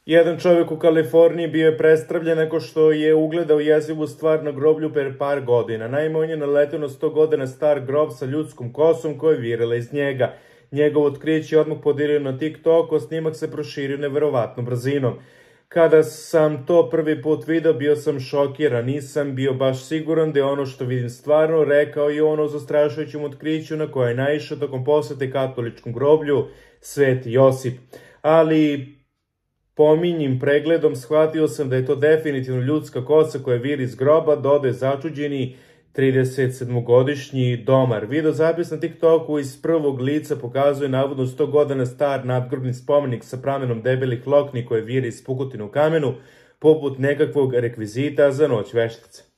Jedan čovjek u Kaliforniji bio je prestravljen nakon što je ugledao jezivu stvar na groblju pre par godina. Naime, on je naletio na 100 godina star grob sa ljudskom kosom koja je virila iz njega. Njegovo otkriće je odmah podelio na TikToku, a snimak se proširio neverovatnom brzinom. Kada sam to prvi put video, bio sam šokiran, nisam bio baš siguran da je ono što vidim stvarno, rekao je on o zastrašujućem otkriću na koje je naišao tokom posete katoličkom groblju Sveti Josip. Ali pominjim pregledom shvatio sam da je to definitivno ljudska kosa koja viri iz groba, dodaje začuđeni 37-godišnji domar. Video zapis na TikToku iz prvog lica pokazuje navodno 100 godina star nadgrobni spomenik sa pramenom debelih lokni koje viri iz pukotine u kamenu, poput nekakvog rekvizita za noć veštice.